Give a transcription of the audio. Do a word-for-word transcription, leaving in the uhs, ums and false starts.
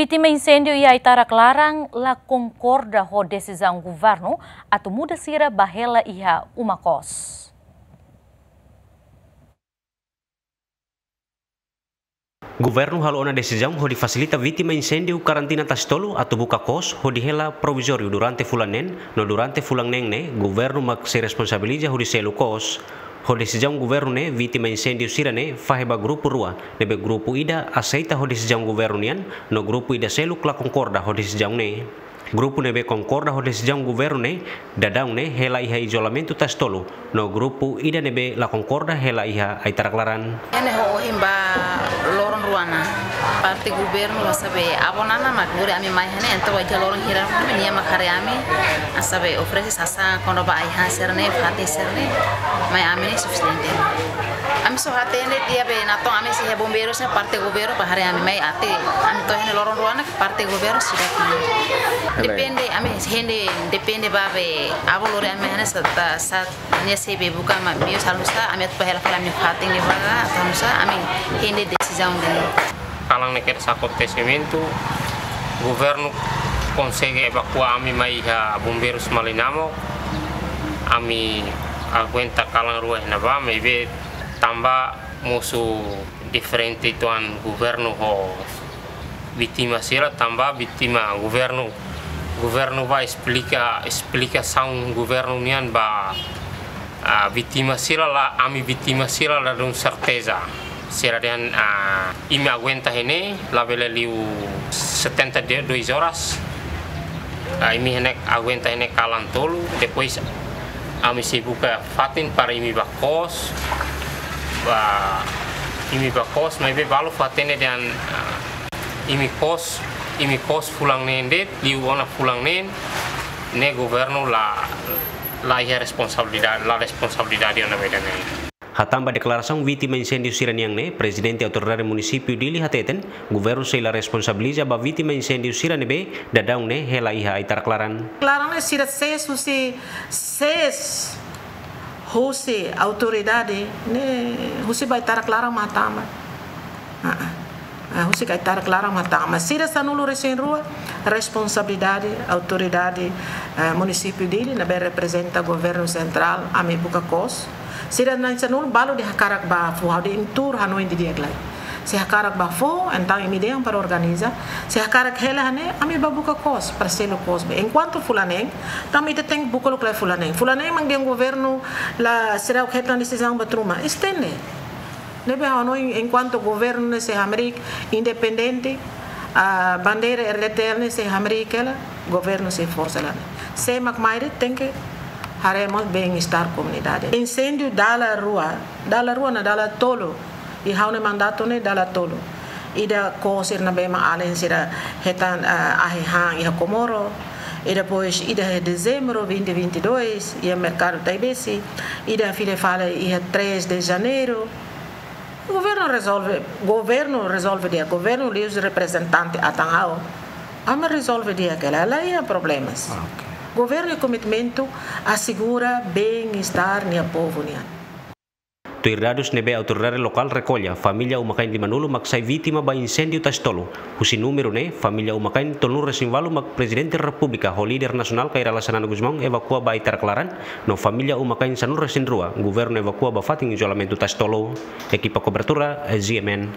Vítima inséndiu iha Aitarak Laran la konkorda ho desizaun governu atu muda sira ba hela iha uma kos. Governu halo ona desizaun hodi fasilita vítima inséndiu karantina Tasi Tolu atu buka kos hodi hela provizóriu durante fulan neen, no durante fulan neen ne'e governu mak sei responsabiliza hodi selu kos. Ho desizaun governu ne'e, vítima inséndiu sira-ne'e fahe ba grupu rua, ne'ebé grupu ida aseita ho desizaun governu nian, no grupu ida seluk la konkorda ho desizaun ne'e. Grupu ne'ebé konkorda ho desizaun governu ne'e, daudaun ne'e hela iha izolamentu Tasi Tolu, no grupu ida ne'ebé la konkorda hela iha Aitarak Laran. Ne'e ho ohin ba loron rua ona. Parte governu hanesan be avó Nana mak lori ami mai iha ne'e, entaun ba iha loron hira nia mak haree ami, hanesan be oferese sasán kona-ba ai-han sira-ne'e, fatin sira-ne'e, mai ami ne'e sufisiente. Ami só hatene de'it be natoon ami sei iha bombeirus ne'e parte governu bá haree ami mai até ami to'o iha ne'e loron rua ona parte governu seidauk mai. Depende, ami hende depende ba be avó lori ami iha ne'e sá, sá nia sei be buka mak meius halo nusá, ami atu bá hela fali ami-nia fatin ne'e ba, atu halo nusá, ami hende desizaun de'it. Kalan ne'e kedas akontesimentu, governu konsege evakua ami mai iha bombeirus Malinamo, ami aguenta kalan rua iha ne'ebá, maibé tanba mosu diferente uitoan governu ho vítima sira, tanba vítima governu, governu bá esplika, esplikasaun governu nian ba, ah, vítima sira la, ami vítima sira la dún serteza. Sira dehan, ah, imi aguenta iha ne'e, labele liu setenta e dois horas. Ah, imi iha ne'e aguenta iha ne'e kalan tolu, depois ami sei buka fatin para imi bá kos, bá imi bá kos, maibé balu fatin ne'e dehan, ah, imi kos, imi kos fulan neen de'it, liu ona fulan neen, ne'e governu la, la iha responsabilidade, la responsabilidade ona ba ida-ne'e. Hatán ba deklarasaun vítima inséndiu sira-nian ne'e, Prezidente Autoridade Munisípiu Dili hateten, governu sei la responsabiliza ba vítima inséndiu sira ne'ebé daudaun ne'e hela iha Aitarak Laran. Laran ne'e sira sees husi, sees husi autoridade ne'e, husi ba Aitarak Laran mak tama. Ah, ah. Ah, husi Aitarak Laran mak tama. Sira sanulu-resin-rua, responsabilidade autoridade, eh, Munisípiu Dili, ne'ebé reprezenta governu sentrál, ami buka kos. Sira na'in sanulu balu dehan hakarak bá fó, ha'u dehan tuur hanoin didi'ak lai. Se hakarak bá fó, entaun imi dehan para organiza. Se hakarak hela iha ne'e, ami bá buka kos, para selu kos be. Enkuantu fulan neen, tanba ita tenke buka loke lai fulan neen. Fulan neen mak dehan governu la seidauk hetan desizaun ba tun uma. Estende. Ne'ebé ha'u hanoin enkuantu governu ne'e sei hamriik independente, ah, bandeira R D T L ne'e sei hamriik hela, governu sei forsa lai. Sé mak mai de'it tenke haree mós bem-estar komunidade. Inséndiu dala rua, dala rua ona dala tolu, iha ha'u-nia mandatu ne'e dala tolu. Ida kos sira ne'ebé mak alin sira hetan, ah, ahi han iha Comoro. I depois ida iha dezembru vinte vinte e dois, iha merkadu Taibesi. Ida fila fali iha três de janeiro. Governu rezolve, governu rezolve di'ak, governu liuhusi reprezentante atan ha'u. Ami rezolve di'ak hela, la iha problemas. Ah, ok. Governu komitmentu asegura bem-estar nia povu nian. Tuir dadus ne'ebé autoridade lokál rekolla, família uma-kain limanulu mak sai vítima ba inséndiu Tasi Tolu. Husi númeru ne'e, família uma-kain tolunulu-resin-ualu mak Prezidente Repúblika ho líder nasionál Kay Rala Xanana Gusmão evakua ba Aitarak Laran, no família uma-kain sanulu-resin-rua, governu evakua ba fatin izolamentu Tasi Tolu. Ekipa kobertura, Z M N.